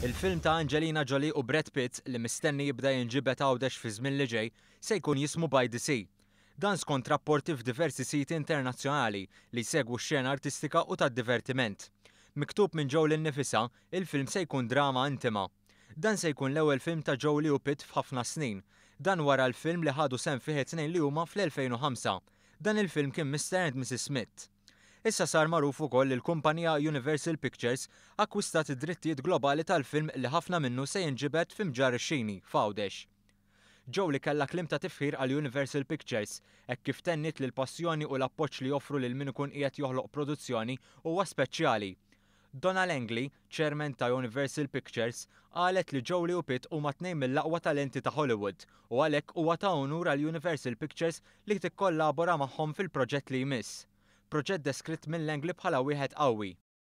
Il-film ta' Angelina Jolie u Brad Pitt li mistenni jibda jinġibed Għawdex fi żmien li ġej se jkun jismu By the Sea. Dan skont rapporti f'diversi siti internazzjonali li jsegwu x-xena artistika u tad-divertiment. Miktub minn Jolie nnifisha, il-film se jkun drama intima. Dan se jkun l-ewwel film ta' Jolie u Pitt f'ħafna snin. Dan wara l-film li ħadu sehem fih it-tnejn li huma fl-2005. Dan il-film kien Mr and Mrs Smith. Issa sar magħruf ukoll li l-kumpanija Universal Pictures akkwistat id-drittijiet globali tal-film li ħafna minnu se jinġibed fi Mġarr ix-Xini, f'Għawdex. Jolie kellha kliem ta' tifħir għal Universal Pictures, hekk kif tenniet li l-passjoni u l-appoġġ li joffru lil min ikun qiegħed joħloq produzzjoni huwa speċjali. Donna Langley, chairman ta' Universal Pictures, qalet li Jolie u Pitt huma tnejn mill-aqwa talenti ta' Hollywood u għalhekk huwa ta' unur għal Universal Pictures li tikkollabora magħhom fil-proġett li jmiss. Proġett deskritt minn Langley bħala wieħed qawwi.